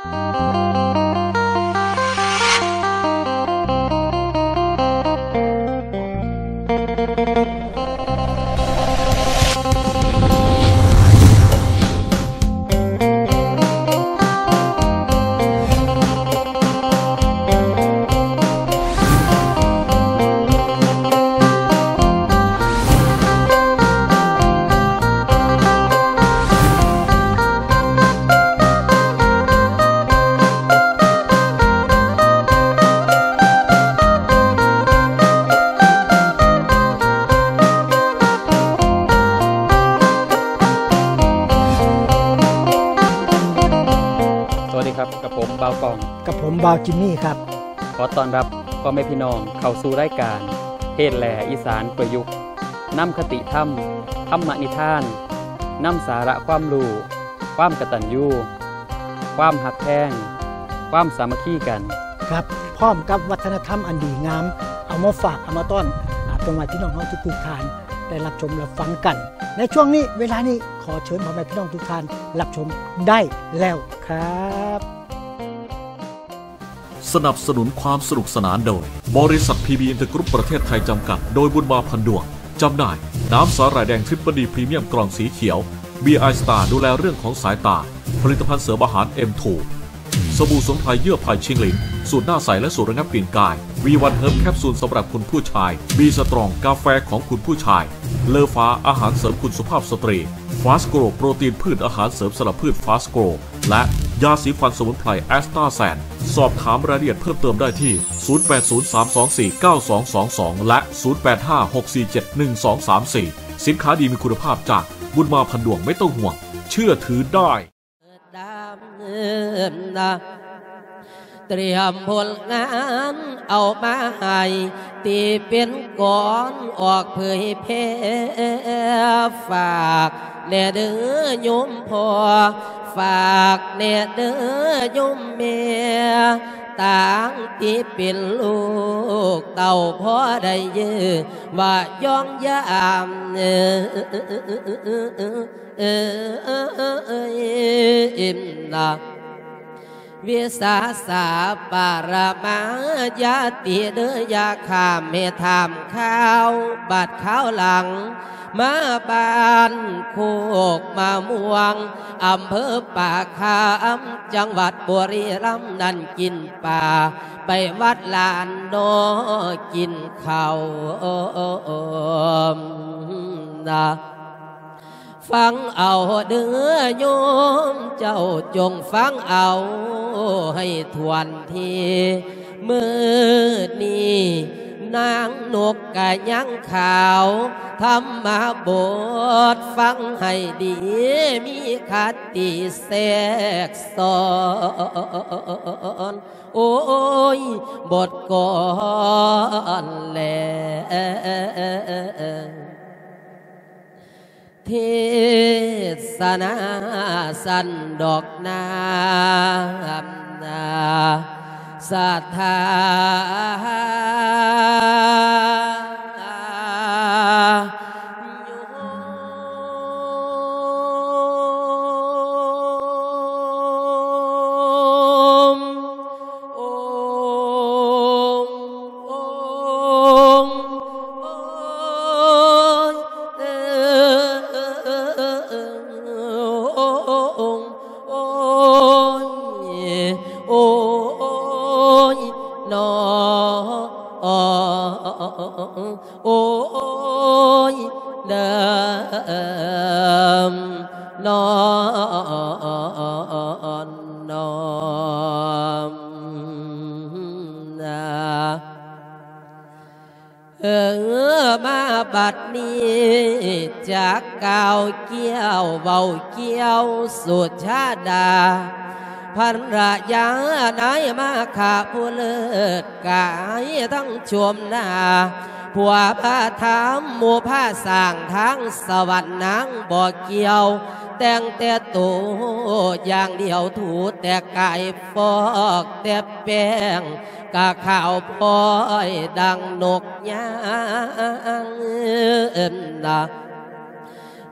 สวัสดีครับ กับผมบ่าวกอง กับผมบ่าวจิมมี่ครับ ขอต้อนรับพ่อแม่พี่น้องเข้าสู่รายการ เพลแหล่อีสานประยุกต์ นำคติธรรม ธรรมนิทาน นำสาระความรู้ ความกตัญญู ความฮักแพง ความสามัคคีกัน ครับ พร้อมกับวัฒนธรรมอันดีงาม เอามาฝาก เอามาต้อน อา พ่อแม่พี่น้องเฮาทุกๆท่าน ได้รับชมรับฟังกัน ในช่วงนี้ เวลานี้ ขอเชิญพ่อแม่พี่น้องทุกท่านรับชมได้แล้วครับ สนับสนุนความสนุกสนานโดย บริษัท พี บี อินเตอร์กรุ๊ป ประเทศไทย จำกัด โดยบุญมา พันดวง จำหน่าย น้ำสาหร่ายแดง ทริปเปิลดี พรีเมียม กล่องสีเขียว บี ไอ สตาร์ ดูแลเรื่องของสายตา ผลิตภัณฑ์เสริมอาหาร เอ็ม ทู สบู่สมุนไพรเยื่อไผ่ชิงหลิน สูตรหน้าใสและสูตรระงับกลิ่นกาย วี วัน เฮิร์บ แคปซูลสำหรับคุณผู้ชาย บี สตรอง กาแฟของคุณผู้ชาย เลอฟ้า อาหารเสริมคุณสุภาพสตรี ฟาสโกร โปรตีนพืช อาหารเสริมสำหรับพืช ฟาสโกร และยาสีฟันสมุนไพร แอสตาแซน สอบถามรายละเอียดเพิ่มเติมได้ที่ ศูนย์ แปด ศูนย์ สาม สอง สี่ เก้า สอง สอง สอง และ ศูนย์ แปด ห้า หก สี่ เจ็ด หนึ่ง สอง สาม สี่ สินค้าดีมีคุณภาพจากบุญมา พันดวง ไม่ต้องห่วง เชื่อถือได้ ດາມນະ ຕຽມຜົນງານເອົາມາໃຫ້ ທີ່ເປັນກອນອອກເຜີຍແຜ່ ຝາກແດ່ເດີໂຍມພໍ່ ຝາກແດ່ເດີໂຍມແມ່ ຕ່າງທີ່ເປັນລູກເຕົ້າ ພໍໄດ້ເຢີວ່າຍ້ອງຢາມ ເອີ ເອີ ເອີ ເອີ ເອີ ເອີ ນະ ວິສາສາປາລະມາຍາຕິເດີ ຢ່າຂ້າມໃຫ້ຂ້າມຄາວ ບັດຄາວຫຼັງ ມາບ້ານໂຄກມະມ່ວງ ອຳເພີປາກຄາມ ຈັງຫວັດບຸລີລຳ ນັ້ນກິນປາ ໄປວັດລານນໍ ກິນເຂົ້ານະ ຟັງເອົາເດີໂຍມເຈົ້າ ຈົ່ງຟັງເອົາໃຫ້ຖ້ວນທີ ມື້ນີ້ນາງນົກກະຍັງຂາວ ທຳມະບົດຟັງໃຫ້ດີ ມີຄະຕິແຊກຊ້ອນ ໂອ້ຍ ບົດກ່ອນແລ ເທສະນາຊັ້ນດອກນາມນາ ສັດທາໂຍມ ໂອມ ໂອມ ໂອຍ ເອີ ໂອຍ ໂອຍ ໂອຍ ນອ ໂອຍ ເດີມ ນອນ ນອມ ນາ ເອີ ມາບັດນີ້ ຈາກກ່າວກ່ຽວເວົ້າກ່ຽວສຸຊາດາ ພັນລະຍານາຍມາຄະຜູ້ເລີດ ກາຍທັງຊົມໜ້າ ຜົວພາທຳໝູ່ພາສ້າງທາງສະຫວັນນາງບໍ່ກ່ຽວ ແຕ່ງແຕ່ໂຕຢ່າງດຽວ ຖູແຕ່ກາຍຟອກແຕ່ແປ້ງ ກະຂາວພ້ອຍດັ່ງນົກຍາງນະ.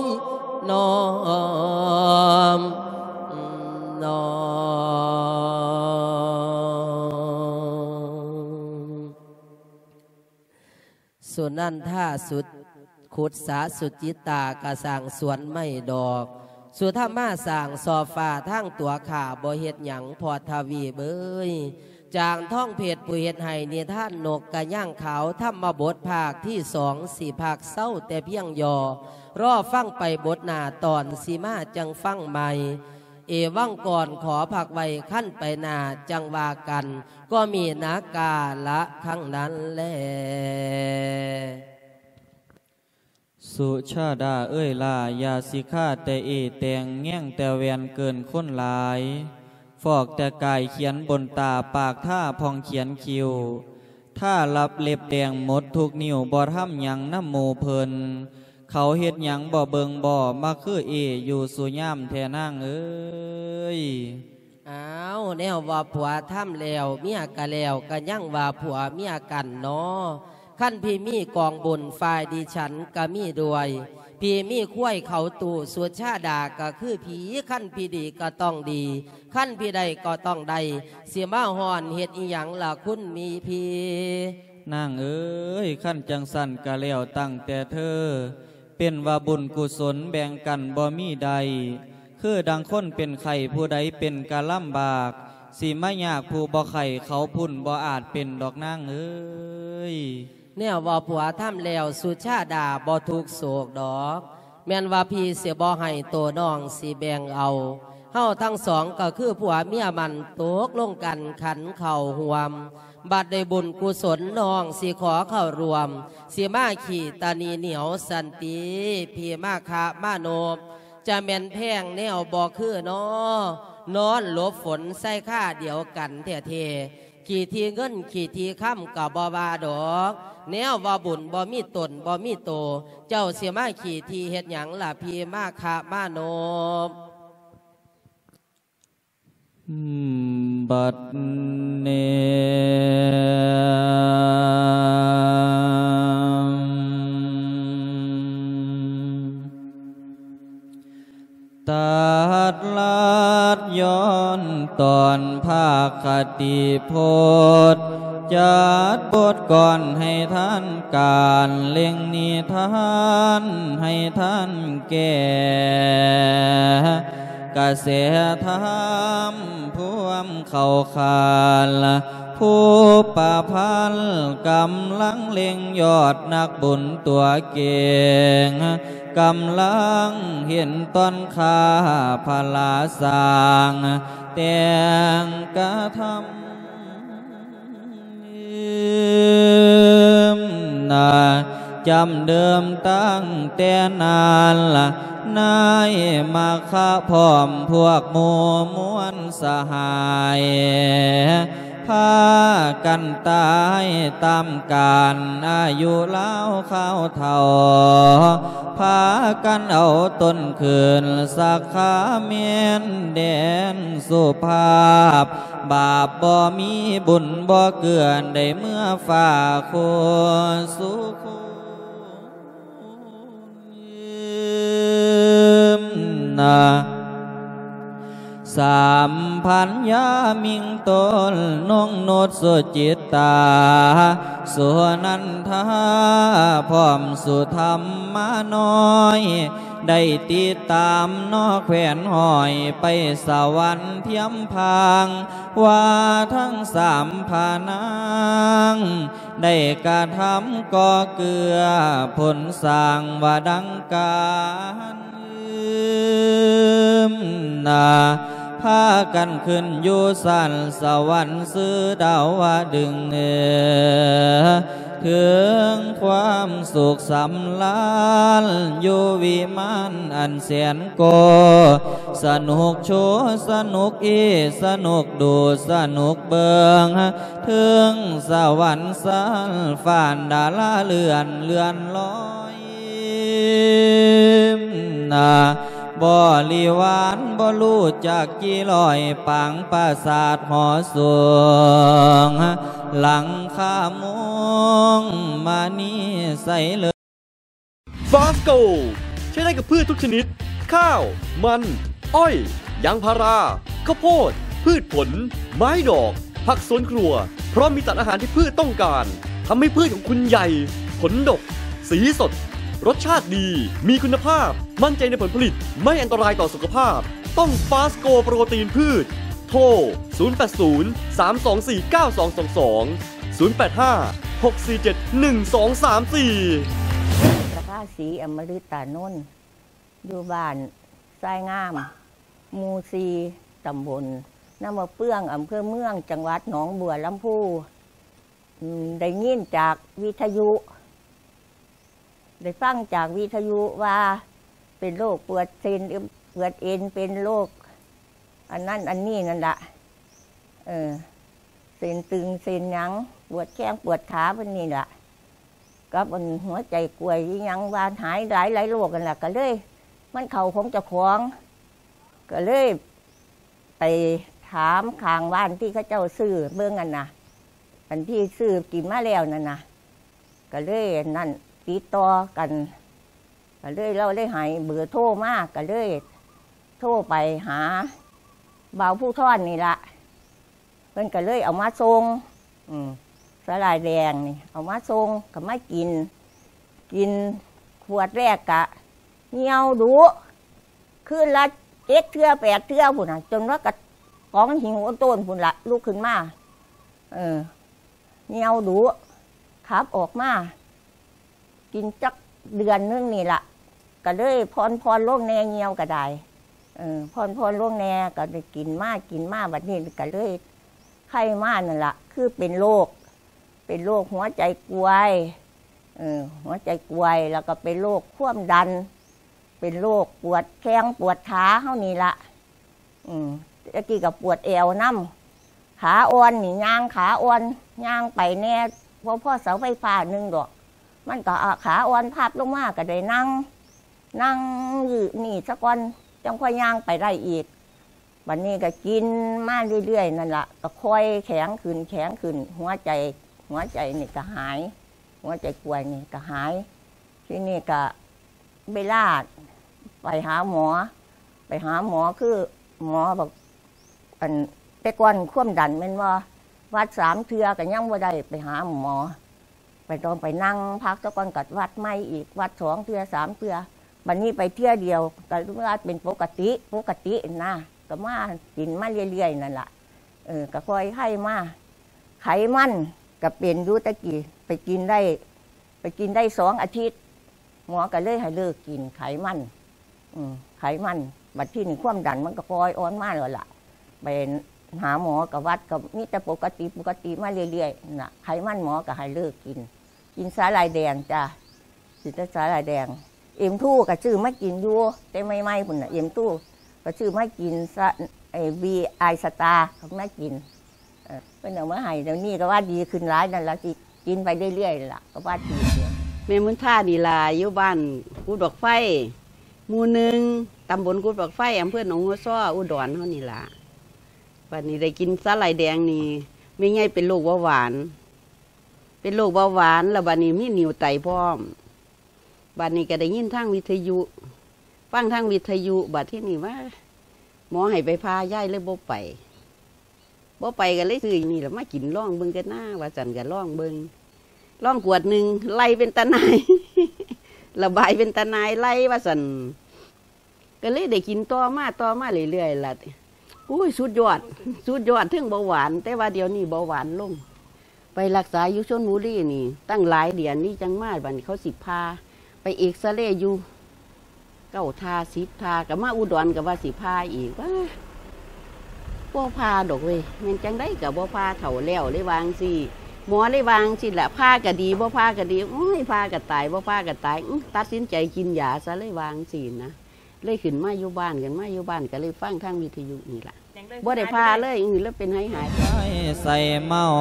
ຍ ນ້ອມນ້ອມ. ສຸນັນທາ ສຸດ ຂຸດສາ ສຸຈິຕາກະສ້າງສວນໄມ້ດອກ ສຸທຳມາສ້າງຊອບຟ້າທາງຕົວຂ້າ ບໍ່ເຮັດຫຍັງ ພອດທະວີບເອີຍ. ຈາງທອງເພັດ ຜູ້ເຮັດໃຫ້ນິທານນົກກະຍາງຂາວ ທຳມະບົດພາກທີສອງ ຊິພັກເຊົາແຕ່ພຽງຫຍໍ້ ລໍຟັງໄປບົດໜ້າ ຕອນຊິມາຈັ່ງຟັງໃໝ່. ເອວັງກ່ອນ ຂໍພັກໄວ້ ຄັນໄປໜ້າຈັ່ງວ່າກັນ ກໍມີນາກາລະຄັ້ງນັ້ນແລ. ສຸຊາດາເອີຍຫຼ້າ ຢ່າຊິຄາແຕ່ເອແຕ່ງ ແຍງແຕ່ແວ່ນເກີນຄົນຫຼາຍ ຟອກແຕ່ກາຍຂຽນບົນຕາ ປາກທາຜ່ອງຂຽນຄິ້ວ ທາລັບເລັບແດງໝົດທຸກນິ້ວ ບໍ່ທຳຫຍັງນຳໝູ່ເພິ່ນ ເຂົາເຮັດຫຍັງບໍ່ເບິ່ງບໍ່ ມາຄືເອຢູ່ສູ່ຍາມແທ້ນາງເອີຍ. ອ້າວ ແນວວ່າຜົວທຳແລ້ວ ເມຍກະແລ້ວ ກະຍັງວ່າຜົວເມຍກັນນໍ. ຄັນຜີມີກອງບຸນ ຝ່າຍດິສັນກະມີດ້ວຍ ຜີມີຄວາຍເຂົ້າຕູ້ ສຸຊາດາກະຄືຜີ ຄັນຜີດີກະຕ້ອງດີ ຄັນຜີໄດ້ກະຕ້ອງໄດ້ ຊິມາຮ້ອນເຮັດອີ່ຫຍັງລະຄຸນມີຜີ? ນາງເອີຍ ຄັນຈັ່ງຊັ້ນກະແລ້ວຕັ້ງແຕ່ເທີ ເປັນວ່າບຸນກຸສົນແບ່ງກັນບໍ່ມີໄດ້ ຄືດັ່ງຄົນເປັນໄຂ້ ຜູ້ໃດເປັນກະລຳບາກ ຊິມາຍາກຜູ້ບໍ່ໄຂ້ ເຂົາພຸ້ນບໍ່ອາດເປັນດອກນາງເອີຍ. ແນວວ່າຜົວທຳແລ້ວ ສຸຊາດາບໍ່ທຸກໂສກດອກ ແມ່ນວ່າພີ່ຊິບໍ່ໃຫ້ໂຕນ້ອງຊິແບ່ງເອົາ ເຮົາທັງສອງກໍຄືຜົວເມຍມັນ ຕົກລົງກັນຂັນເຂົ້າຮ່ວມ ບັດໄດ້ບຸນກຸສົນ ນ້ອງຊິຂໍເຂົ້າຮ່ວມ ຊິມາຂີ້ຕາໜີໜຽວສັນຕິ ພີ່ມາຄະມາໂນບ ຈະແມ່ນແພງແນວບໍ່ຄືນໍ ນອນຫຼົບຝົນໃສ່ຄາດຽວກັນແທ້ໆ ຂີ້ທີ່ເງິນຂີ້ທີ່ຄຳກໍບໍ່ວ່າດອກ ແນວວ່າບຸນບໍ່ມີຕົນບໍ່ມີໂຕ ເຈົ້າຊິມາຂີ້ທີ່ເຮັດຫຍັງລະ ພີ່ມາຄະມາໂນບ? ບັດນີ້ ຕັດລັດຍ້ອນຕອນພາກຄະຕິພົດ ຈັດບົດກ່ອນໃຫ້ທ່ານການ ເລັ່ງນິທານໃຫ້ທ່ານແກ່ ກະແສທຳພວມເຂົ້າຂານ ຜູ້ປະພັນກຳລັງເລັ່ງ ຍອດນັກບຸນຕົວເກັ່ງ ກຳລັງເຫັນຕອນຂ້າພະລາສ້າງ ແຕ່ງກະທຳ ນາ ຈຳເດີມຕັ້ງແຕ່ນານລະ ນາຍມະຄະພ້ອມພວກໝູ່ມວນສະຫາຍ ພາກັນຕາຍຕາມການອາຍຸລາວຄາວເຖົ້າ ພາກັນເອົາຕົນຄືນສັກຂາແມ່ນແດນສຸພາບ ບາບບໍ່ມີບຸນບໍ່ເກືອ ໄດ້ເມືອຟ້າໂຄສຸຄຸນນາ ສາມພັນຍາມິງຕົນນົງນຸດສຸຈິດຕາ ສຸນັນທາ ພ້ອມສຸທຳມານ້ອຍ ໄດ້ຕິດຕາມນອກແຂວນຫ້ອຍ ໄປສະຫວັນທຽມພາງ ວ່າທັງສາມພະນາງ ໄດ້ກະທຳກໍ່ເກື້ອຜົນສ້າງວ່າດັ່ງການນາ ພາກັນຂຶ້ນຢູ່ຊັ້ນສະຫວັນຊື່ດາວະດຶງ ເອີ ເຖິງຄວາມສຸກສຳລານ ຢູ່ວິມານອັນແສນໂກ ສະໜຸກໂຊ ສະໜຸກອີ ສະໜຸກດູ ສະໜຸກເບິ່ງ ເຖິງສະຫວັນຊັ້ນຟ້ານດາລາເລື່ອນ ເລື່ອນລອຍນາ ບໍລິວານບໍ່ຮູ້ຈັກກີ່ຮ້ອຍ ປາງປາສາດຫໍສູງ ຫຼັງຄາມຸງມະນີໃສເລີ Fast Gold ໃຊ້ໄດ້ກັບພືດທຸກຊະນິດ ຂ້າວ, ມັນ, ອ້ອຍ, ຢາງພາລາ, ເຂົ້າໂພດ, ພືດຜົນ, ໄມ້ດອກ, ຜັກສວນຄົວ ເພາະມີສານອາຫານທີ່ພືດຕ້ອງການ ທຳໃຫ້ພືດຂອງຄຸນໃຫຍ່, ຜົນດົກ, ສີສົດ, ລົດຊາດດີ, ມີຄຸນນະພາບ, ໝັ້ນໃຈໃນຜົນຜະລິດ, ໄມ່ອັນຕະລາຍຕໍ່ສຸຂະພາບ. ຕ້ອງ Fast Gold ໂປຣຕີນພືດ. ໂທ ສູນແປດສູນ ສາມສອງສີ່ ເກົ້າສອງສອງສອງ ສູນແປດຫ້າ ຫົກສີ່ເຈັດ ໜຶ່ງສອງສາມສີ່. ປະພາສີ ອຳມະລິດຕານົນ ຢູ່ບ້ານຊາຍງາມ ໝູ່ສີ່ ຕຳບົນນາມະເປືອງ ອຳເພີເມືອງ ຈັງຫວັດໜອງບົວລຳພູ. ອືມ ໄດ້ຍິນຈາກວິທະຍຸ ໄດ້ຟັງຈາກວິທະຍຸວ່າເປັນໂລກປວດເສັ້ນ ປວດເອັນ ເປັນໂລກອັນນັ້ນອັນນີ້ນັ້ນລະ ເອີ ເສັ້ນຕຶງເສັ້ນຫຍັງ ປວດແຂ້ງປວດຂາເພິ່ນນີ້ລະ ກັບອັນຫົວໃຈກວຍອີ່ຫຍັງ ວ່າຫາຍຫຼາຍໆໂລກຫັ້ນລະ ກະເລີຍ ມັນເຂົ້າຂອງເຈົ້າຂອງ ກະເລີຍໄປຖາມຂ້າງບ້ານທີ່ເຂົາເຈົ້າຊື້ເບິ່ງຫັ້ນນະ ອັນທີ່ຊື້ກິນມາແລ້ວນັ້ນນະ ກະເລີຍອັນນັ້ນ ຕິດຕໍ່ກັນ ກະເລີຍ ລາວເລີຍໃຫ້ເບີໂທມາ ກະເລີຍໂທໄປຫາບ່າວພູທອນນີ້ລະ ເພິ່ນກະເລີຍເອົາມາສົ່ງ ອືມ ສາຫຼ່າຍແດງນີ້ເອົາມາສົ່ງ ກະມາກິນ ກິນຂວດແລກກະຍ່ຽວດຸ ຄືນລະເຈັດເທື່ອແປດເທື່ອພຸ້ນນະ ຈົນວ່າກະກອງຫິ້ວໂອນໂຕນພຸ້ນລະ ລຸກຂຶ້ນມາ ເອີ ຍ່ຽວດຸ ຂັບອອກມາ ກິນຈັກເດືອນໜຶ່ງນີ້ລະ ກະເລີຍຜ່ອນໆລົງແດ່ ຍ່ຽວກະໄດ້ ເອີ ຜ່ອນໆລົງແດ່ ກະໄດ້ກິນມາ ກິນມາ ບັດນີ້ກະເລີຍໄຄມານັ້ນລະ ຄືເປັນໂລກ ເປັນໂລກຫົວໃຈກວຍ ເອີ ຫົວໃຈກວຍ ແລ້ວກະເປັນໂລກຄວາມດັນ ເປັນໂລກປວດແຂ້ງປວດຂາເຮົານີ້ລະ ອືມ ແຕ່ກີ້ກະປວດແອວນຳ ຂາອ່ອນນີ້ ຍ່າງຂາອ່ອນ ຍ່າງໄປແດ່ ບໍ່ພໍເສົາໄຟຟ້າໜຶ່ງດອກ ມັນກະ ອາ ຂາອ່ອນພັບລົງມາ ກະໄດ້ນັ່ງ ນັ່ງຢູ່ນີ້ສາກ່ອນ ຈັ່ງຄ່ອຍຍ່າງໄປໄດ້ອີກ. ບັດນີ້ກະກິນມາເລື້ອຍໆນັ້ນລະ ກະຄ່ອຍແຂງຂຶ້ນ ແຂງຂຶ້ນ ຫົວໃຈ ຫົວໃຈນີ້ກະຫາຍ ຫົວໃຈກວຍນີ້ກະຫາຍ. ທີນີ້ກະເວລາໄປຫາໝໍ ໄປຫາໝໍ ຄືໝໍບອກ ອັນ ແຕ່ກ່ອນຄວາມດັນແມ່ນບໍ່ ວັດສາມເທື່ອກະຍັງບໍ່ໄດ້ໄປຫາໝໍ ໄປ ຕ້ອງໄປນັ່ງພັກສາກ່ອນ ກະວັດໃໝ່ອີກ ວັດສອງເທື່ອສາມເທື່ອ ບັດນີ້ໄປເທື່ອດຽວກະວ່າເປັນປົກກະຕິ ປົກກະຕິນະ ກະມາກິນມາເລື້ອຍໆນັ້ນລະ ເອີ ກະຄ່ອຍໄຄມາ. ໄຂມັນກະເປັນຢູ່ ແຕ່ກີ້ໄປກິນໄດ້ ໄປກິນໄດ້ສອງອາທິດ ໝໍກະເລີຍໃຫ້ເລີກກິນໄຂມັນ ອືມ ໄຂມັນ ບັດທີນີ້ຄວາມດັນມັນກະຄ່ອຍອ່ອນມາແລ້ວລະ ໄປຫາໝໍກະວັດກະມີແຕ່ປົກກະຕິ ປົກກະຕິມາເລື້ອຍໆນະ ໄຂມັນໝໍກະໃຫ້ເລີກກິນ ກິນສາຫຼ່າຍແດງຈ້າ ກິນແຕ່ສາຫຼ່າຍແດງ. ເອັມທູກະຊື້ມາກິນຢູ່ ແຕ່ໃໝ່ໆພຸ້ນນະ ເອັມທູກະຊື້ມາກິນ ສະ ໄອ້ ບີ ອາຍສະຕາ ເຂົາມາກິນ ເອີ ເພິ່ນເອົາມາໃຫ້ ດຽວນີ້ກະວ່າດີຂຶ້ນຫຼາຍນັ້ນລະ ຊິກິນໄປເລື້ອຍໆລະ ກະວ່າດີ. ແມ່ບຸນທານີ້ລະ ຢູ່ບ້ານກຸດບັກໄຟ ໝູ່ໜຶ່ງ ຕຳບົນກຸດບັກໄຟ ອຳເພີໜອງຫົວຊໍ ອຸດອນເຮົານີ້ລະ. ບາດນີ້ໄດ້ກິນສາຫຼ່າຍແດງນີ້ ແມ່ໃຫຍ່ເປັນໂລກເບົາຫວານ ເປັນໂລກເບົາຫວານ ແລ້ວບາດນີ້ມີໜິວໄຕພ້ອມ. ບາດນີ້ກະໄດ້ຍິນທາງວິທະຍຸ ຟັງທາງວິທະຍຸ ບາດທີນີ້ວ່າໝໍໃຫ້ໄປຜ່າ ຍາຍເລີຍບໍ່ໄປ ບໍ່ໄປກະເລີຍຊື້ນີ້ລະມາກິນລອງເບິ່ງກະນາ ວ່າຊັ້ນ ກະລອງເບິ່ງ ລອງຂວດໜຶ່ງ ໄລ່ເປັນຕາໜ່າຍ ລະບາຍເປັນຕາໜ່າຍ ໄລ່ວ່າຊັ້ນ ກະເລີຍໄດ້ກິນຕໍ່ມາ ຕໍ່ມາເລື້ອຍໆລະ. ໂອ້ຍ ສຸດຍອດ ສຸດຍອດ ເທິງເບົາຫວານ ແຕ່ວ່າດຽວນີ້ເບົາຫວານລົງ. ໄປລັກສາຢູ່ຊົນບູລີນີ້ຕັ້ງຫຼາຍເດືອນນີ້ ຈັ່ງມາ ບາດນີ້ເຂົາຊິຜ່າ ໄປເອັກຊະເຣຢູ່ເກົ້າທ່າ ສິບທ່າ ກະມາອຸດອນກະວ່າຊິຜ່າອີກ ວ່າບໍ່ຜ່າດອກເວີຍ ແມ່ນຈັ່ງໃດກະບໍ່ຜ່າ ເຖົ້າແລ້ວ ເລີຍວ່າຈັ່ງຊີ້ ໝໍເລີຍວ່າຈັ່ງຊີ້ລະ ຜ່າກະດີ ບໍ່ຜ່າກະດີ ໂອ້ຍ ຜ່າກະຕາຍ ບໍ່ຜ່າກະຕາຍ ອື ຕັດສິນໃຈກິນຢາຊະ ເລີຍວ່າຈັ່ງຊີ້ນະ. ເລີຍຂຶ້ນມາຢູ່ບ້ານ ຂຶ້ນມາຢູ່ບ້ານກະເລີຍຟັງທາງວິທະຍຸນີ້ລະ ບໍ່ໄດ້ຜ່າເລີຍ ເລີຍເປັນຫາຍໆ. ໃສ່ເມົາ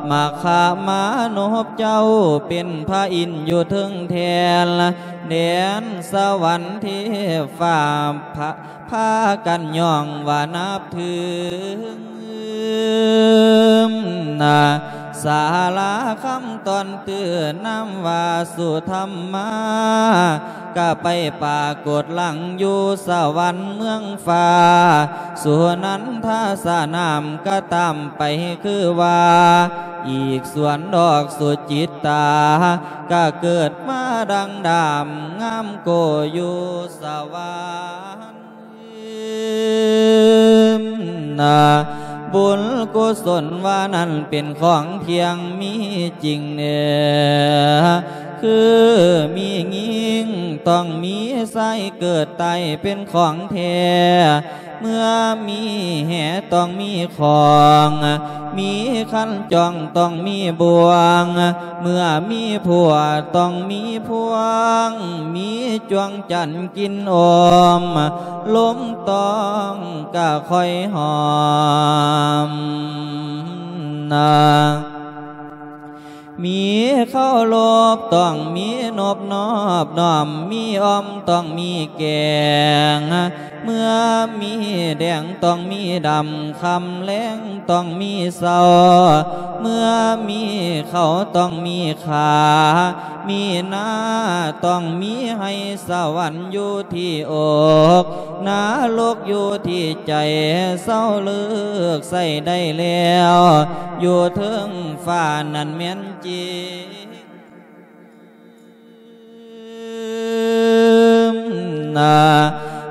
ມາຄາມານົບເຈົ້າ ເປັນພະອິນຢູ່ເທິງແທ່ນ ແດນສະຫວັນເທບຟ້າ ພະ ພາກັນຍ້ອງວ່ານັບຖື ນາ ສາລາຄຳຕອນຕື້ນາມວ່າສຸທຳມາ ກະໄປປາກົດຫຼັງຢູ່ສະຫວັນເມືອງຟ້າ ສຸນັນທາສະໜາມກະຕາມໄປຄືວ່າ ອີກສ່ວນດອກສຸຈິດຕາ ກະເກີດມາດັ່ງດາມງາມໂກຢູ່ສະຫວັນ. ບຸນກຸສົນວ່ານັ້ນເປັນຂອງທ່ຽງມີຈິງເນ ຄືມີຍິງຕ້ອງມີຊາຍເກີດຕາຍເປັນຂອງແທ້ ເມື່ອມີແຫຕ້ອງມີຂອງ ມີຄັນຈອງຕ້ອງມີບ່ວງ ເມື່ອມີຜົວຕ້ອງມີພວງ ມີຈວງຈັນກິນໂອມ ລົມຕ້ອງກະຄ່ອຍຫອມນາ. ມີເຄົາລົບຕ້ອງມີນົບນອບນ້ອມ ມີອ່ອມຕ້ອງມີແກງ ເມື່ອມີແດງຕ້ອງມີດຳ ຄ່ຳແລງຕ້ອງມີເຊົ້າ ເມື່ອມີເຂົ້າຕ້ອງມີຂາ ມີນາຕ້ອງມີໄຮ່ ສະຫວັນຢູ່ທີ່ອົກ ນະລົກຢູ່ທີ່ໃຈ ເຊົາເລີກໃຊ້ໄດ້ແລ້ວ ຢູ່ເທິງຟ້ານັ້ນແມ່ນຈິງນາ.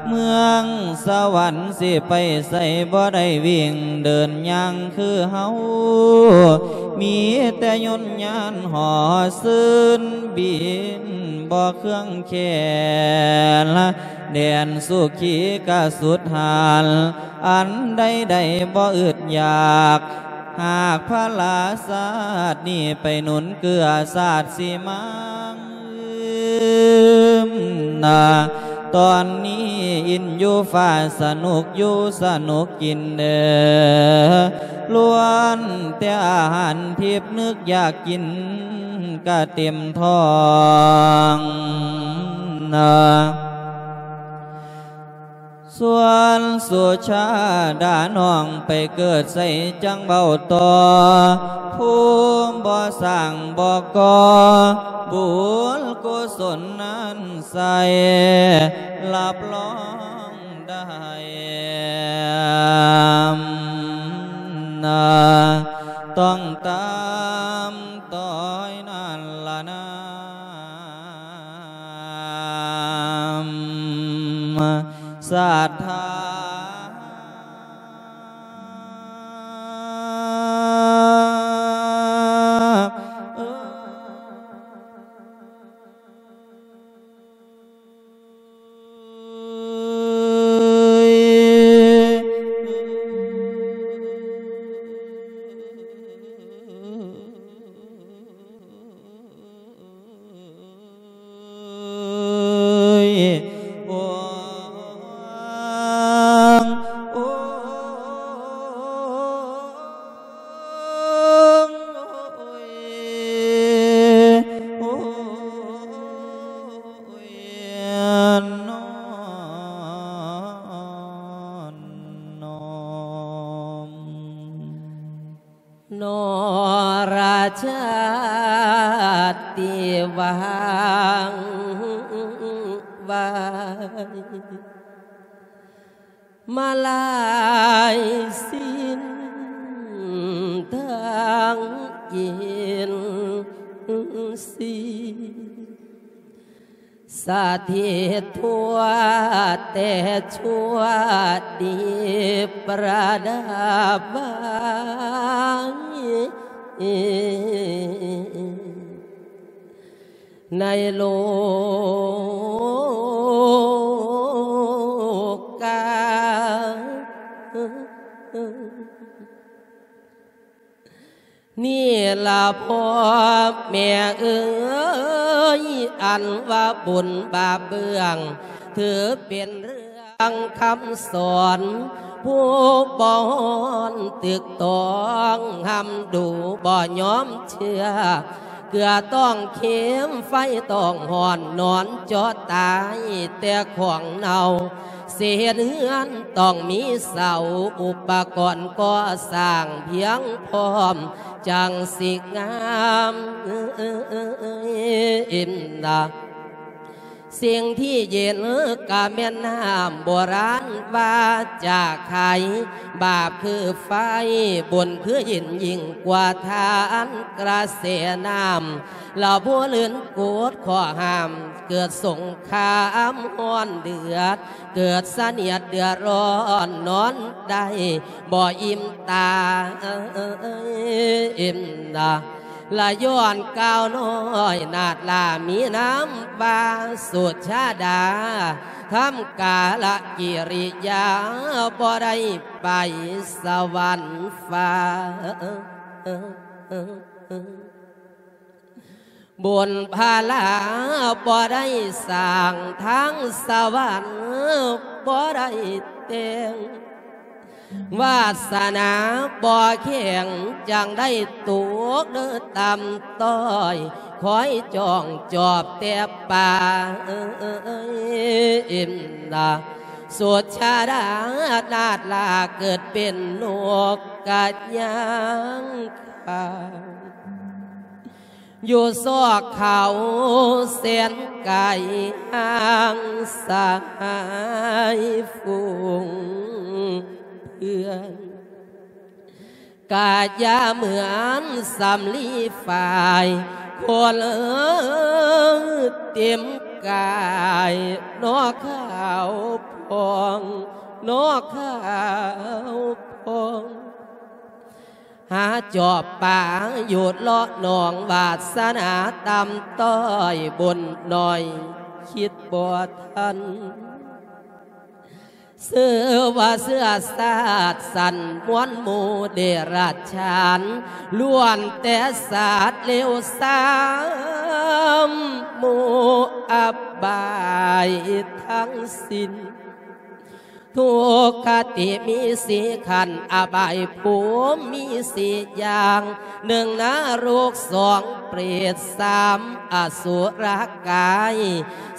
ເມືອງສະຫວັນຊິໄປໃສບໍ່ໄດ້ວິ່ງເດີນຍ່າງຄືເຮົາ ມີແຕ່ຍົນຍານຫໍຊືນບິນບໍ່ເຄືອງແຂນ ແດນສຸຂີກະສຸດຫານ ອັນໃດໆບໍ່ອຶດຢາກ ຫາກພະລາຊາດນີ້ໄປໜູນເກືອຊາດຊິມາງນາ. ຕອນນີ້ອິນຢູ່ຟ້າສະໜຸກຢູ່ສະໜຸກກິນເດີ ລ້ວນແຕ່ອາຫານທິບ ນຶກຢາກກິນກະເຕັມທ້ອງນາ. ສ່ວນສຸຊາດານ້ອງໄປເກີດໃສຈັ່ງເວົ້າຕໍ່ ພູມບໍ່ສ້າງບໍ່ກໍ່ ບຸນກຸສົນນັ້ນໃສ ຮັບຮອງໄດ້ນາ ຕ້ອງຕາມ ຕ້ອຍນັ້ນລະນາ ສັດທາ. ນອລະຊາດຕິຫວັງໄວ້ ມາລາຍສິນທາງກິນຊີ ສະຖິດທົ່ວແຕ່ຊົ່ວດີປະດັບໄວ້ ໃນໂລກາ. ນີ້ລະພໍ່ແມ່ເອີຍ ອັນວ່າບຸນບາບເບື້ອງ ຖືເປັນເລື່ອງຄຳສອນ ຜູ້ບໍ່ຮ້ອນຕຶກຕອງ ຫ້ຳດູບໍ່ຍອມເຊື່ອ ເກືອຕ້ອງເຄັມ ໄຟຕ້ອງຮ້ອນ ນອນເຈາະຕາຍແຕ່ຂອງເນົ່າ. ຊິເຮັດເຮືອນຕ້ອງມີເສົາ ອຸປະກອນກໍ່ສ້າງພຽງພ້ອມ ຈັ່ງຊິງາມນະ. ສິ່ງທີ່ເຢັນກະແມ່ນນ້ຳໂບລານວ່າຈາໄຄ, ບາບຄືໄຟ ບຸນຄືເຢັນຍິ່ງກວ່າທານ ກະແສນ້ຳລະບໍ່ລື່ນກົດຂໍ້ຫ້າມ, ເກີດສົງຄາມຮ້ອນເດືອດ, ເກີດສະໜຽດເດືອດຮ້ອນນອນໄດ້ບໍ່ອີ່ມຕາ. ລະຍ້ອນກ່າວນ້ອຍນາດລາມີນາມວ່າສຸດຊາດາ ທຳກາລະກິລິຍາບໍ່ໄດ້ໄປສະຫວັນຟ້າ. ບຸນພາລາບໍ່ໄດ້ສ້າງ ທາງສະຫວັນບໍ່ໄດ້ແຕ່ງ. ວາສະໜາບໍ່ແຂງ ຈັ່ງໄດ້ຕົກເດີຕ່ຳຕ້ອຍ, ຄອຍຈ້ອງຈອບແຕ່ປ່າ. ສຸດຊາດານາດລາເກີດເປັນນົກກະຍ່າງຂາວ ຢູ່ຊອກເຂົາແສນໄກຫ່າງສະຫາຍຝູງເພື່ອນ, ກະຢ່າເໝືອນສຳລີຝ້າຍ ຄົນເຕັມກາຍ ໜໍຂາວພອງ ໜໍຂາວພອງ. ຫາຈອບປາຢູ່ເລາະໜອງ ວາສະໜາຕ່ຳຕ້ອຍບຸນໜ້ອຍຄິດບໍ່ທັນ. ເຊື້ອວ່າເຊື້ອຊາດສັນມວນໝູ່ເດຍລະຈະສານ ລ້ວນແຕ່ສັດເລວຊາມ ໝູ່ອັບບາຍທັງສິ້ນ. ທຸກຄະຕິມີສີ່ຂັ້ນ ອະບາຍພູມມີສີ່ຢ່າງ ໜຶ່ງນະລົກ ສອງເປດ ສາມອະສຸລະກາຍ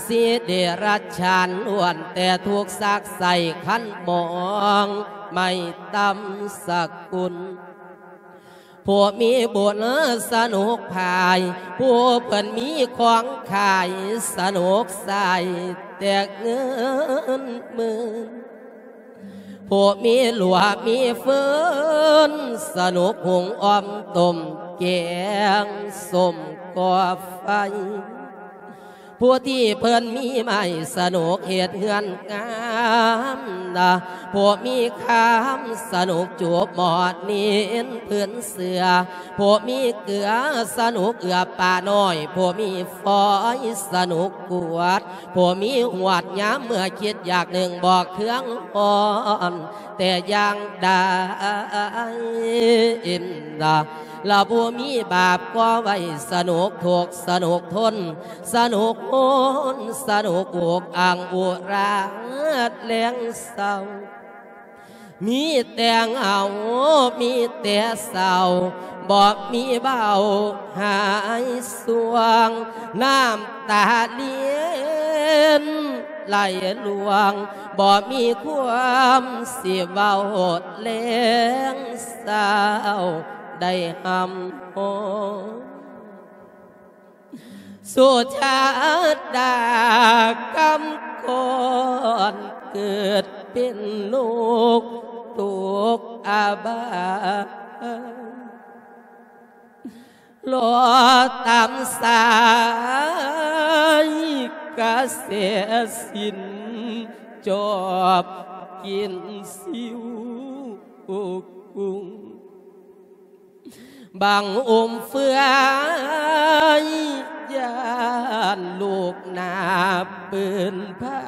ສີ່ເດຍລະຈະສານ ລ້ວນແຕ່ທຸກຊາກໄສ້ຄັນໝອງ ໄມ້ຕຳສະກຸນ. ຜູ້ມີບຸນສະໜຸກພາຍ ຜູ້ເພິ່ນມີຂອງຂາຍສະໜຸກໃຊ້ແຕ່ເງິນໝື່ນ. ຜູ້ມີລົວມີຟືນ ສະໜຸກຫຸງອອມຕົ້ມແກງສົ້ມກໍ່ໄຟ. ຜູ້ທີ່ເພິ່ນມີໄມ້ສະໜຸກເຮັດເຮືອນງາມນະ, ຜູ້ມີຄາມສະໜຸກຈູບໝອດນິນພື້ນເສືອ, ຜູ້ມີເກືອສະໜຸກເອື້ອປານ້ອຍ, ຜູ້ມີຟອຍສະໜຸກກວດ, ຜູ້ມີຫວດຍາມເມື່ອຄິດຢາກໜຶ່ງບໍ່ເຄືອງຮ້ອນແຕ່ຢ່າງໃດນະ. ລະຜູ້ມີບາບກໍ່ໄວ້ສະໜຸກທຸກສະໜຸກທົນ ສະໜຸກໂຫນ ສະໜຸກອຸກອັ່ງອຸຣາດແລງເສົ້າ. ມີແຕ່ເຫງົາ ມີແຕ່ເສົ້າ ບໍ່ມີເບົາຫາຍສວງ ນ້ຳຕາລຽນໄຫຼລວງ ບໍ່ມີຄວາມຊິເວົ້າແລງເສົ້າໄດ້ຮ່ຳຮ້ອງ. ສຸຊາດາກຳກອນເກີດເປັນນົກຕົກອະບາຍ ລໍຕາມສາຍກະແສສິນ ຈອບກິນຊິວກຸງ. ບັງອຸມເຟືອຍ ຢ້ານລູກໜ້າປືນພາ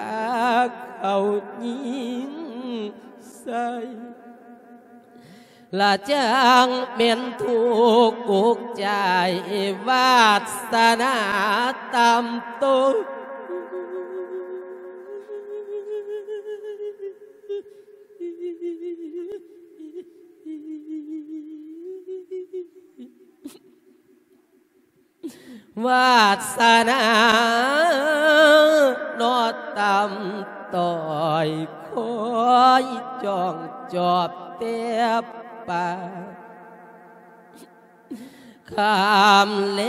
ເຂົາຍິງໃສ່ ລະຈັ່ງແມ່ນທຸກອຸກໃຈ ວາດສະໜາຕ່ຳຕົກ. ວາດສະໜາເນາະຕ່ຳຕ້ອຍ ຄອຍຈ້ອງຈອບແຕ່ປາກ ຄ່ຳແລ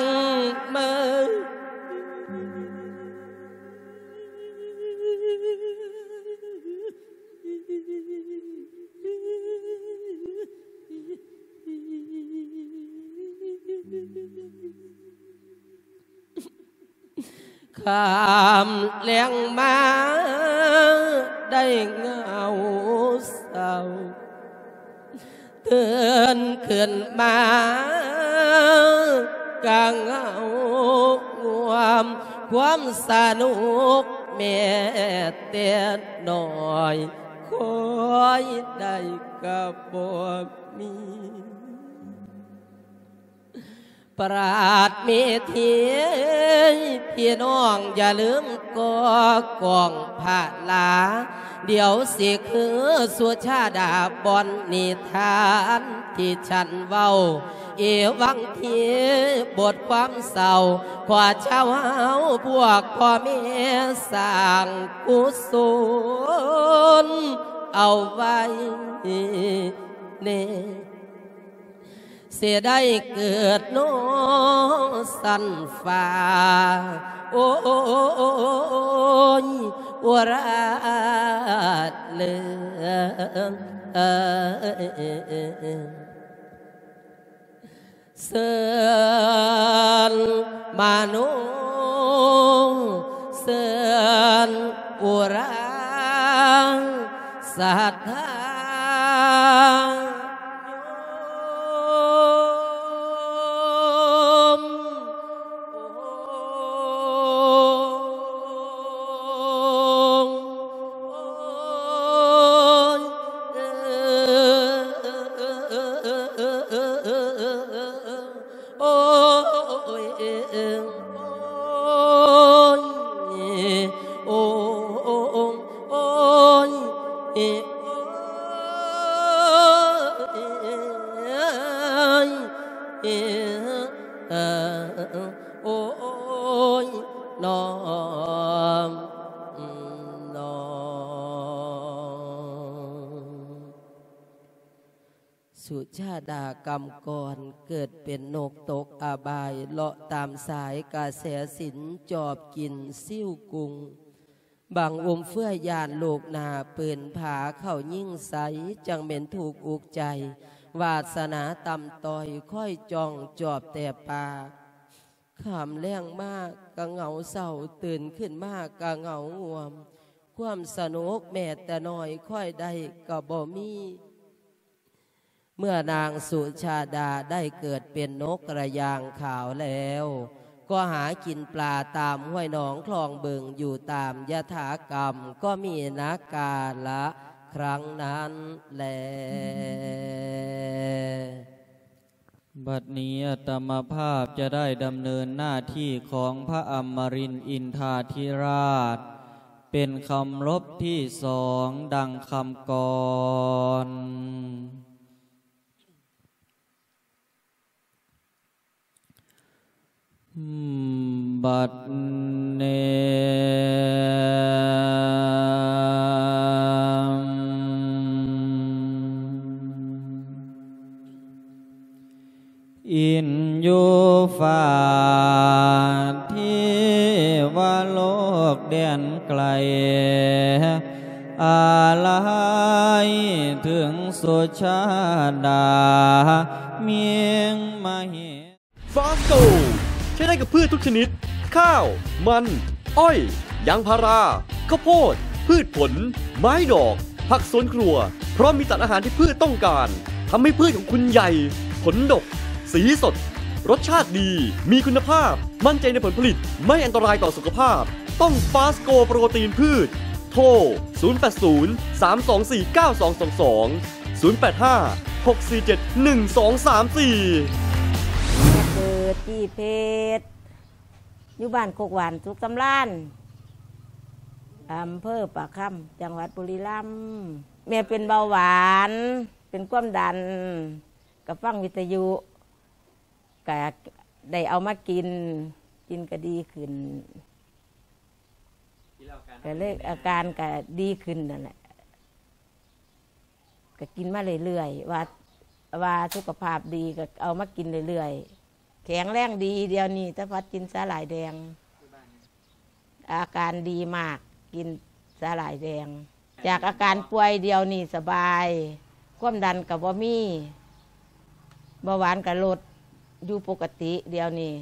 ງມາ ຄ່ຳແລງມາໄດ້ເຫງົາເສົ້າ ຕື່ນຂຶ້ນມາກະເຫງົາງວມ ຄວາມສະໜຸກແມ້ແຕ່ນ້ອຍ ຄອຍໄດ້ກະບໍ່ມີ. ປາດເມທີ ພີ່ນ້ອງຢ່າລືມກໍ່ກອງພະລາ ດຽວຊິຄືສຸຊາດາບ່ອນນິທານທີ່ສັນເວົ້າ ເອວັງທີ່ບົດຄວາມເສົ້າ ຂໍຊາວເຮົາພວກພໍ່ແມ່ສ້າງກຸສົນເອົາໄວ້ແນ່. ຊິໄດ້ເກີດເນາະຊັ້ນຟ້າ ໂອ້ຍ ອຸຣາເລີ ເຊີນມະໂນ ເຊີນອຸຣາ ສັດທາໂຍມ ໂອ້ຍ ໂອ້ຍ ໂອ້ຍ ໂອ້ຍ ໂອ້ຍ ໂອ້ຍ ນ້ອງ ນ້ອງ. ສຸຊາດາກຳກອນ ເກີດເປັນນົກຕົກອະບາຍ ເລາະຕາມສາຍກະແສສິນ ຈອບກິນຊິວກຸງ. ບັງອຸມເຟືອຢ້ານລູກໜ້າ ປືນຜາເຂົ້າຍິງໃສ່ ຈັ່ງແມ່ນທຸກອຸກໃຈ ວາດສະໜາຕ່ຳຕ້ອຍ ຄອຍຈ້ອງຈອບແຕ່ປາກ ຄ່ຳແລງມາກະເຫງົາເສົ້າ ຕື່ນຂຶ້ນມາກະເຫງົາງ່ວມ ຄວາມສະໜຸກແມ້ແຕ່ນ້ອຍ ຄອຍໄດ້ກະບໍ່ມີ. ເມື່ອນາງສຸຊາດາໄດ້ເກີດເປັນນົກກະຢ່າງຂາວແລ້ວ ກໍຫາກິນປາຕາມຫ້ວຍໜອງຄລອງບຶງຢູ່ຕາມຍະຖາກຳ ກໍມີນາກາລະຄັ້ງນັ້ນແລ. ບັດນີ້ອາດຕະມາພາບຈະໄດ້ດຳເນີນໜ້າທີ່ຂອງພະອຳມະລິນອິນທາທິລາດ ເປັນຄຳລົບທີສອງ ດັ່ງຄຳກ່ອນ. ບັດນີ້ ອິນຢູ່ຟ້າເທວະໂລກແດນໄກ ອາໄລເຖິງສຸຊາດາ ເມງມະເຫ Fast Gold ໃຊ້ໄດ້ກັບພືດທຸກຊະນິດ ຂ້າວ, ມັນ, ອ້ອຍ, ຢາງພາລາ, ເຂົ້າໂພດ, ພືດຜົນ, ໄມ້ດອກ, ຜັກສວນຄົວ ເພາະມີສານອາຫານທີ່ພືດຕ້ອງການ ທຳໃຫ້ພືດຂອງຄຸນໃຫຍ່, ຜົນດົກ, ສີສົດ, ລົດຊາດດີ, ມີຄຸນນະພາບ, ໝັ້ນໃຈໃນຜົນຜະລິດ, ໄມ່ອັນຕະລາຍຕໍ່ສຸຂະພາບ. ຕ້ອງ Fast Gold ໂປຣຕີນພືດ. ໂທ ສູນແປດສູນ ສາມສອງສີ່ ເກົ້າສອງສອງສອງ ສູນແປດຫ້າ ຫົກສີ່ເຈັດ ໜຶ່ງສອງສາມສີ່. ແມ່ເກີດທີ່ເພດ ຢູ່ບ້ານໂຄກຫວານ ສຸກສຳລານ ອຳເພີປາກຄຳ ຈັງຫວັດບຸລີລຳ. ແມ່ເປັນເບົາຫວານ ເປັນຄວາມດັນ ກໍຟັງວິທະຍຸ ກະ ໄດ້ເອົາມາກິນ ກິນກະດີຂຶ້ນ ກະເລີຍອາການກະດີຂຶ້ນນັ້ນແຫຼະ ກະກິນມາເລື້ອຍໆ ວ່າ ວ່າສຸຂະພາບດີ ກະເອົາມາກິນເລື້ອຍໆ ແຂງແຮງດີ ດຽວນີ້ຕາພັດກິນສາຫຼ່າຍແດງ ອາການດີມາກ ກິນສາຫຼ່າຍແດງ ຈາກອາການປ່ວຍ ດຽວນີ້ສະບາຍ ຄວາມດັນກະບໍ່ມີ ເບົາຫວານກະລົດຢູ່ປົກກະຕິ ດຽວນີ້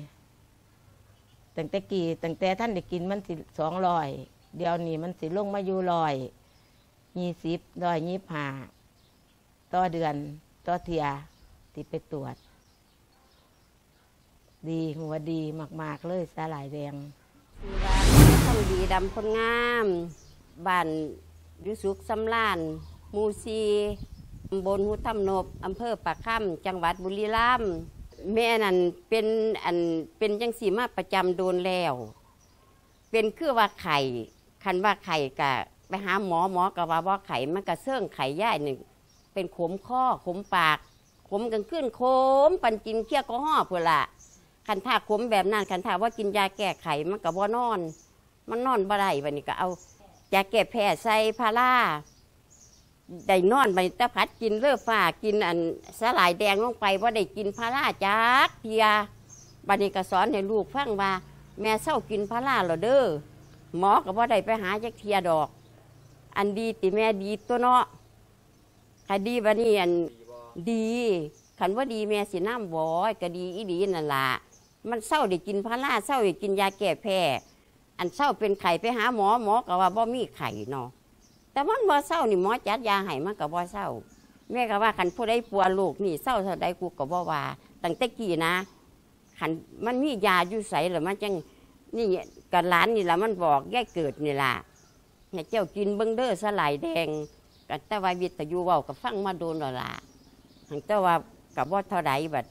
ຕັ້ງແຕ່ກີ້ ຕັ້ງແຕ່ທັນໄດ້ກິນມັນຊິສອງຮ້ອຍ ດຽວນີ້ມັນຊິລົງມາຢູ່ຮ້ອຍ ຍີ່ສິບ ຮ້ອຍຍີ່ສິບຫ້າ ຕໍ່ເດືອນ ຕໍ່ເທື່ອທີ່ໄປກວດ ດີ ຮູ້ວ່າດີມາກໆເລີຍ ສາຫຼ່າຍແດງ. ຊື່ວ່າ ທອງດີ ດຳພົນງາມ ບ້ານຢູ່ສຸກສຳລານ ໝູ່ສີ່ ຕຳບົນຫູທຳນົບ ອຳເພີປາຄຳ ຈັງຫວັດບຸລີລຳ. ແມ່ນັ້ນເປັນ ອັນ ເປັນຈັ່ງຊີ້ມາປະຈຳດົນແລ້ວ. ເປັນຄືວ່າໄຂ້ ຄັນວ່າໄຂ້ກະໄປຫາໝໍ ໝໍກະວ່າບໍ່ໄຂ້ ມັນກະເຊີງໄຂ້ ຍາຍນີ້ເປັນຂົມຄໍ ຂົມປາກ ຂົມກາງຄືນ ຂົມປານກິນເຄຍແອລກໍຮໍພຸ້ນລະ. ຄັນຖ້າຂົມແບບນັ້ນ ຄັນຖ້າບໍ່ກິນຢາແກ້ໄຂ້ ມັນກະບໍ່ນອນ ມັນນອນບໍ່ໄດ້. ບາດນີ້ກະເອົາຢາແກ້ແພ້ໃສ່ພາລາ ໄດ້ນອນ ບາດນີ້ຕາພັດກິນເລີຟ້າ ກິນອັນສາຫຼ່າຍແດງລົງໄປ ບໍ່ໄດ້ກິນພາລາຈັກເທື່ອ. ບາດນີ້ກະສອນໃຫ້ລູກຟັງວ່າ ແມ່ເຊົາກິນພາລາແລ້ວເດີ ໝໍກະບໍ່ໄດ້ໄປຫາຈັກເທື່ອດອກ. ອັນດີຕິແມ່ ດີຕົວະເນາະ ກະດີ. ບາດນີ້ອັນ ດີ ຄັນບໍ່ດີແມ່ຊິນຳບໍ່? ກະດີອີ່ຫຼີນັ້ນລະ ມັນເຊົາໄດ້ກິນພາລາ ເຊົາໄດ້ກິນຢາແກ້ແພ້. ອັນເຊົາເປັນໄຂ້ໄປຫາໝໍ ໝໍກະວ່າບໍ່ມີໄຂ້ເນາະ ແຕ່ມັນບໍ່ເຊົານີ້ ໝໍຈັດຢາໃຫ້ມັນກະບໍ່ເຊົາ. ແມ່ກະວ່າຄັນຜູ້ໃດປົວໂລກນີ້ເຊົາເທົ່າໃດ ກູກະບໍ່ວ່າ ຕັ້ງແຕ່ກີ້ນະ ຄັນມັນມີຢາຢູ່ໃສລະມັນຈັ່ງນີ້. ກະຫຼານນີ້ລະ ມັນບອກຍາຍເກີດນີ້ລະ ໃຫ້ເຈົ້າກິນເບິ່ງເດີສາຫຼ່າຍແດງ. ກະແຕ່ວ່າວິທະຍຸເວົ້າກະຟັງມາດົນແລ້ວລະ ຫັ້ນແຕ່ວ່າກະບໍ່ເທົ່າໃດ. ບັດ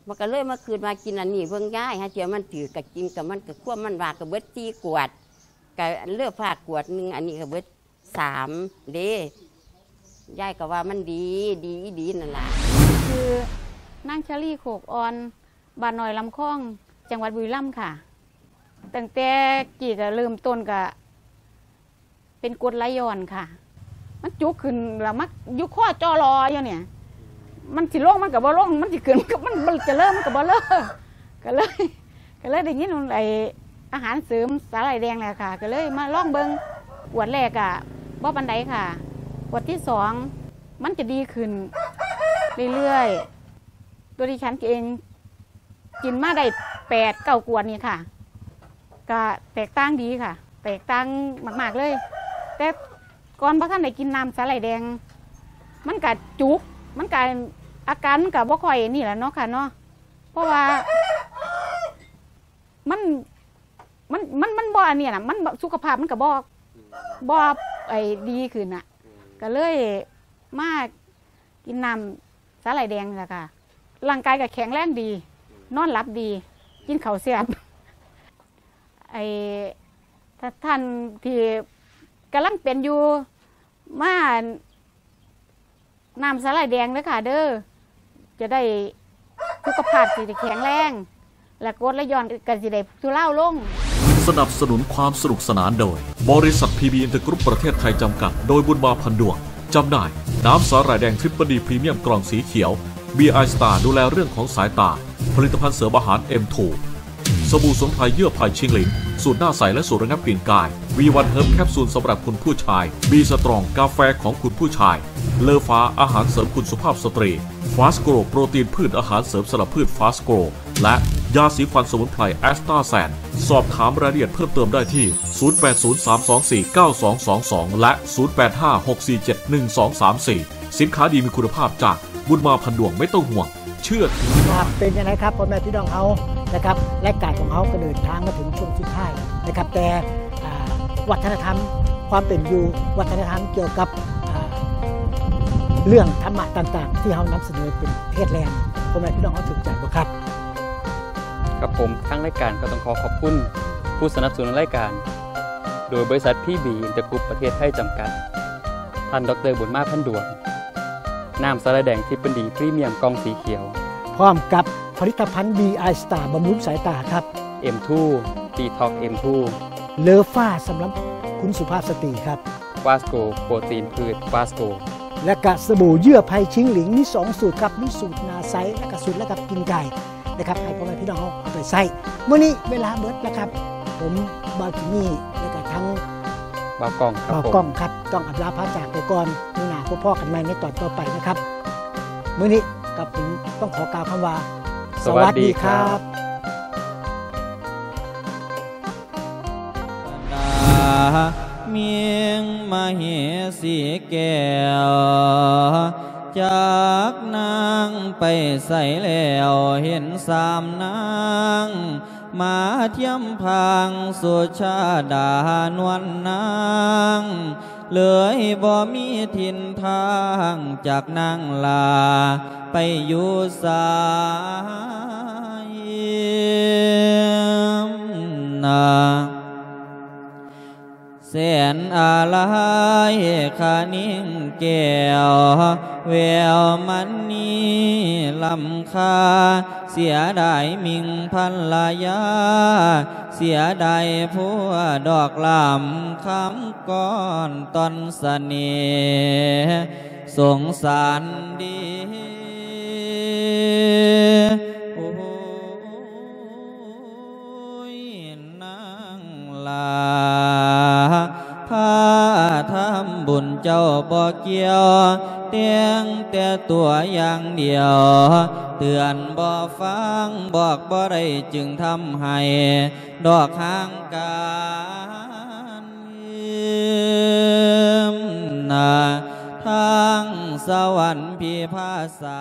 ມັນກະເລີຍມາຄິດວ່າກິນອັນນີ້ເບິ່ງຍາຍ ຫາເທື່ອມັນຖືກ ກະກິນ ກະມັນກະຄວາມມັນວ່າ ກະເບິດສີ່ຂວດ ກະເລີກພາກຂວດໜຶ່ງ ອັນນີ້ກະເບິດສາມເດ້. ຍາຍກະວ່າມັນດີ ດີອີ່ຫຼີນັ້ນລະ. ຊື່ນາງຊາລີ ໂຄກອ່ອນ ບ້ານນ້ອຍລຳຄອງ ຈັງຫວັດບຸລີລຳຄ່ະ. ຕັ້ງແຕ່ກີ້ກະເລີ່ມຕົ້ນກະ ເປັນກົດໄຫຼຍ້ອນຄ່ະ ມັນຈຸກຂຶ້ນລະ ມາຢູ່ຄໍຈໍລໍຢູ່ນີ້ ມັນຊິລົງມັນກະບໍ່ລົງ ມັນຊິຂຶ້ນມັນກະ ມັນ ມັນຈະເລີມັນກະບໍ່ເລີ ກະເລີຍ ກະເລີຍໄດ້ຍິນໄອ້ອາຫານເສີມສາຫຼ່າຍແດງແຫຼະຄ່ະ ກະເລີຍມາລອງເບິ່ງ. ຂວດແລກກະບໍ່ປານໃດຄ່ະ ຂວດທີສອງມັນຈະດີຂຶ້ນເລື້ອຍໆ. ຕົວດິສັນເອງກິນມາໄດ້ແປດເກົ້າຂວດນີ້ຄ່ະ ກະແຕກຕ່າງດີຄ່ະ ແຕກຕ່າງມາກໆເລີຍ. ແຕ່ກ່ອນບໍ່ທັນໄດ້ກິນນ້ຳສາຫຼ່າຍແດງ ມັນກະຈຸກ ມັນກະ ອາການມັນກະບໍ່ຄ່ອຍນີ້ລະເນາະຄ່ະເນາະ ເພາະວ່າມັນ ມັນ ມັນ ມັນບໍ່ອັນນີ້ນະ ມັນ ສຸຂະພາບມັນກະບໍ່ ບໍ່ ໄອ້ ດີຂຶ້ນນະ ກະເລີຍມາ ກິນນ້ຳສາຫຼ່າຍແດງນີ້ລະຄ່ະ ຮ່າງກາຍກະແຂງແຮງດີ ນອນຫຼັບດີ ກິນເຂົ້າແຊບ. ໄອ້ ທ່ານທີ່ກຳລັງເປັນຢູ່ ມານ້ຳສາຫຼ່າຍແດງເດີຄ່ະເດີ ຈະໄດ້ ສຸຂະພາບຊິໄດ້ແຂງແຮງ ແລະ ກົດໄຫຼຍ້ອນກະຊິໄດ້ທຸເລົາລົງ. ສະໜັບສະໜູນຄວາມສະໜຸກສະໜານໂດຍ ບໍລິສັດ ພີບີ ອິນເຕີກຣຸບ ປະເທດໄທ ຈຳກັດ ໂດຍ ບຸນມາ ພັນດວງ. ຈຳໜ່າຍ ນ້ຳສາຫຼ່າຍແດງ Triple D ພຣີມຽມ ກ່ອງສີຂຽວ ບີ ອາຍ ສະຕາ ດູແລເລື່ອງຂອງສາຍຕາ. ຜະລິດຕະພັນເສີມອາຫານ ເອັມທູ ສະບູ່ສະໝຸນໄພເຍື່ອໄຜ່ຊິງຫຼິງ ສູດໜ້າໃສ ແລະ ສູດລະງັບກິ່ນກາຍ. ວີວັນເຮີບ ແຄບຊູນສຳລັບຄຸນຜູ້ຊາຍ. ບີສະຕຣອງ ກາແຟຂອງຄຸນຜູ້ຊາຍ. ເລີຟ້າ ອາຫານເສີມຄຸນສຸພາບສະຕຣີ. ຟາສໂກຣ ໂປຣຕີນພືດ ອາຫານເສີມສຳລັບພືດ ຟາສໂກຣ ແລະ ຢາສີຟັນສະໝຸນໄພ ແອັສຕາແຊນ. ສອບຖາມລາຍລະອຽດເພີ່ມເຕີມໄດ້ທີ່ ສູນແປດສູນ ສາມສອງສີ່ ເກົ້າສອງສອງສອງ ແລະ ສູນແປດຫ້າ ຫົກສີ່ເຈັດ ໜຶ່ງສອງສາມສີ່. ສິນຄ້າດີມີຄຸນນະພາບຈາກບຸນມາ ພັນດວງ ໄມ່ຕ້ອງຫ່ວງ ເຊື່ອຖືໄດ້. ເປັນຈັ່ງໃດຄັບ ພໍ່ແມ່ພີ່ນ້ອງເຮົານະຄັບ ລາຍການຂອງເຮົາກະເດີນທາງມາເຖິງຊ່ວງສຸດທ້າຍນະຄັບ ແຕ່ ອ່າ ວັດທະນະທຳຄວາມເປັນຢູ່ ວັດທະນະທຳກ່ຽວກັບ ອ່າ ເລື່ອງທຳມະຕ່າງໆ ທີ່ເຮົານຳສະເໜີເປັນເທດແລງ ພໍ່ແມ່ພີ່ນ້ອງເຮົາຖືກໃຈບໍ່ຄັບ? ກັບຜົມ ທາງລາຍການກໍຕ້ອງຂໍຂອບຄຸນຜູ້ສະໜັບສະໜູນລາຍການ ໂດຍບໍລິສັດ ພີບີ ອິນເຕີກຣຸບ ປະເທດໄທ ຈຳກັດ, ທ່ານ ດອກເຕີ ບຸນມາ ພັນດວງ, ນ້ຳສາຫຼ່າຍແດງ Triple D ພຣີມຽມ ກ່ອງສີຂຽວ ພ້ອມກັບ ຜະລິດຕະພັນ ບີ ອາຍ ສະຕາ ບຳລຸງສາຍຕາຄັບ ເອັມທູ ດີທັອກ ເອັມທູ ເລີຟາ ສຳລັບຄຸນສຸພາບສະຕີຄັບ ກວາສໂກ ໂປຣຕີນພືດ ກວາສໂກ ແລະກະສະບູເຍື່ອໄພຊິງຫຼິງ ມີສອງສູດຄັບ ມີສູດໜ້າໃສ ແລະກະສູດລະດັບກິ່ງກ່າຍ ນະຄັບ ໃຫ້ພໍ່ແມ່ພີ່ນ້ອງເຮົາເອົາໄປໃຊ້. ມື້ນີ້ເວລາເບິດແລ້ວຄັບ ຜົມ ບ່າວຈິມມີ ແລະກະທັງ ບ່າວກ້ອງຄັບ ບ່າວກ້ອງຄັບ ຕ້ອງອຳລາພາຈາກໄປກ່ອນ. ມື້ໜ້າພົບພໍ້ກັນໃໝ່ໃນຕອນຕໍ່ໄປນະຄັບ. ມື້ນີ້ກັບຜົມຕ້ອງຂໍກ່າວຄຳວ່າ ສະຫວັດດີຄັບ. ສະຫວັດດີຄັບ. ນາ ມິງມະເຫສີແກ້ວ ຈັກນາງໄປໃສແລ້ວ ເຫັນສາມນາງ ມາທຽມພາງສຸຊາດານວນນາງ ເລີຍບໍ່ມີຖິ່ນທາງ ຈັກນາງລາໄປຢູ່ໃສນາ. ແສນອາໄລຄະນິງແກ້ວ ແວວມະນີລ້ຳຄ່າ ເສຍດາຍມິງພັນລະຍາ ເສຍດາຍພົວດອກລ້ຳຄຳກ້ອນຕ່ອນສະເໜ່ ສົງສານດີ ໂອ້ຍ ນາງຫຼ້າ ພາທຳບຸນເຈົ້າບໍ່ກ່ຽວ ແຕ່ງແຕ່ຕົວຢ່າງດຽວ ເຕືອນບໍ່ຟັງ ບອກບໍ່ໄດ້ ຈຶ່ງທຳໃຫ້ດອກຫ່າງການ ນາ ທາງສະຫວັນພິພາສາ.